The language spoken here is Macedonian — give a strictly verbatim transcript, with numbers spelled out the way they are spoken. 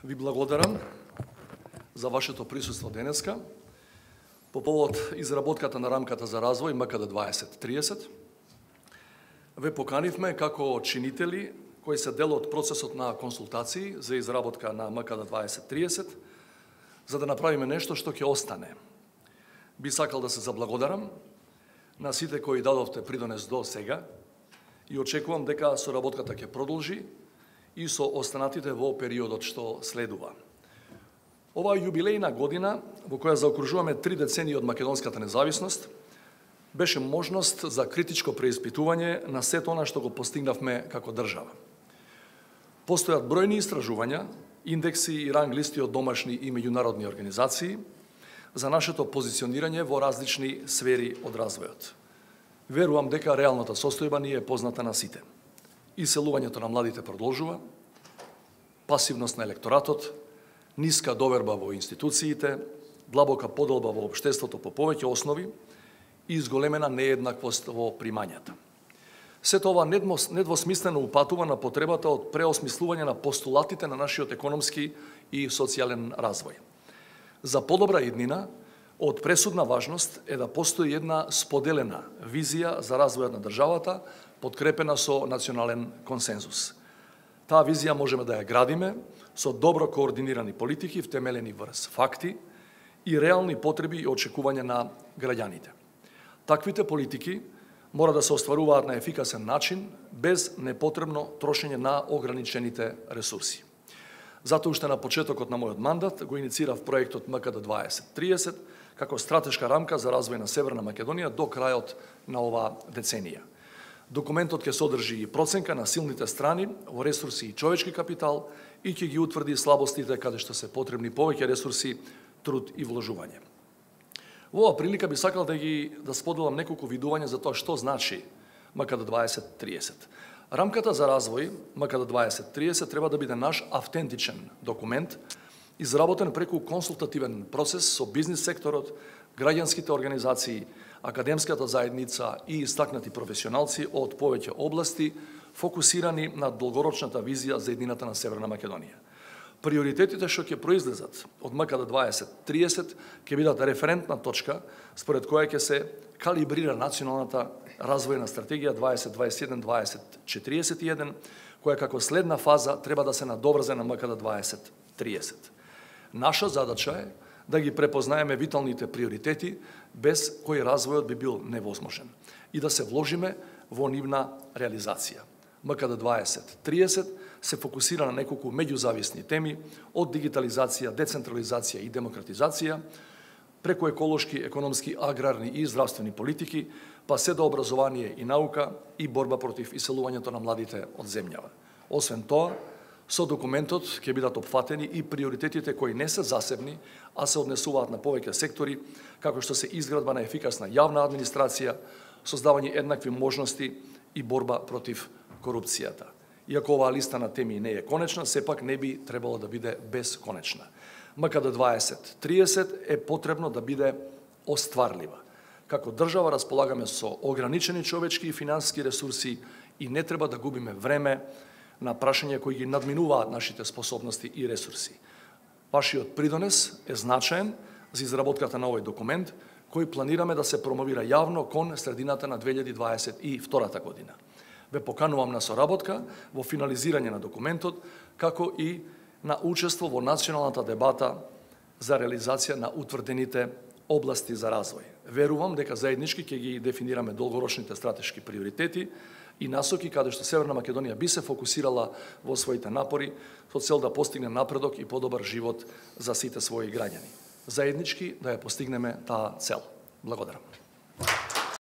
Ви благодарам за вашето присуство денеска по повод изработката на рамката за развој М К Д дваесет триесет. Ве поканивме како чинители кои се дел од процесот на консултации за изработка на М К Д дваесет триесет, за да направиме нешто што ќе остане. Би сакал да се заблагодарам на сите кои дадовте придонес до сега и очекувам дека соработката ќе продолжи и со останатите во периодот што следува. Оваа јубилејна година, во која заокружуваме три децении од македонската независност, беше можност за критичко преиспитување на сето она што го постигнавме како држава. Постојат бројни истражувања, индекси и ранг листи од домашни и меѓународни организации за нашето позиционирање во различни сфери од развојот. Верувам дека реалната состојба ни е позната на сите. Иселувањето на младите продолжува, пасивност на електоратот, ниска доверба во институциите, длабока поделба во општеството по повеќе основи и изголемена нееднаквост во примањата. Сето ова недвосмислено упатува на потребата од преосмислување на постулатите на нашиот економски и социјален развој. За подобра иднина, од пресудна важност е да постои една споделена визија за развојот на државата, подкрепена со национален консензус. Таа визија можеме да ја градиме со добро координирани политики втемелени врз факти и реални потреби и очекувања на граѓаните. Таквите политики мора да се остваруваат на ефикасен начин, без непотребно трошење на ограничените ресурси. Затоа уште на почетокот на мојот мандат го иницирав проектот М К Д дваесет триесет како стратешка рамка за развој на Северна Македонија до крајот на оваа деценија. Документот ќе содржи и проценка на силните страни во ресурси и човечки капитал и ќе ги утврди слабостите каде што се потребни повеќе ресурси, труд и вложување. Во оваа прилика би сакал да ги да споделам неколку видувања за тоа што значи М К Д дваесет триесет. Рамката за развој М К Д дваесет триесет треба да биде наш автентичен документ, изработен преку консултативен процес со бизнис секторот, граѓанските организации, академската заедница и истакнати професионалци од повеќе области, фокусирани на долгорочната визија за еднината на Северна Македонија. Приоритетите што ќе произлезат од М К Д дваесет триесет ќе бидат референтна точка според која ќе се калибрира националната развојна стратегија дваесет дваесет и еден дваесет четириесет и еден, која како следна фаза треба да се надоврзе на М К Д дваесет триесет. Наша задача е да ги препознаеме виталните приоритети, без кои развојот би бил невозможен, и да се вложиме во нивна реализација. М К Д дваесет триесет се фокусира на неколку меѓузависни теми, од дигитализација, децентрализација и демократизација, преку еколошки, економски, аграрни и здравствени политики, па се до образование и наука и борба против иселувањето на младите од земјава. Освен тоа, со документот ќе бидат опфатени и приоритетите кои не се засебни, а се однесуваат на повеќе сектори, како што се изградба на ефикасна јавна администрација, создавање еднакви можности и борба против корупцијата. Иако оваа листа на теми не е конечна, сепак не би требало да биде безконечна. М К Д дваесет триесет е потребно да биде остварлива. Како држава располагаме со ограничени човечки и финансиски ресурси и не треба да губиме време на прашања кои ги надминуваат нашите способности и ресурси. Вашиот придонес е значаен за изработката на овој документ, кој планираме да се промовира јавно кон средината на две илјади дваесет и втора година. Ве поканувам на соработка во финализирање на документот, како и на учество во националната дебата за реализација на утврдените области за развој. Верувам дека заеднички ќе ги дефинираме долгорочните стратешки приоритети и насоки каде што Северна Македонија би се фокусирала во своите напори со цел да постигне напредок и подобар живот за сите своји граѓани. Заеднички да ја постигнеме таа цел. Благодарам.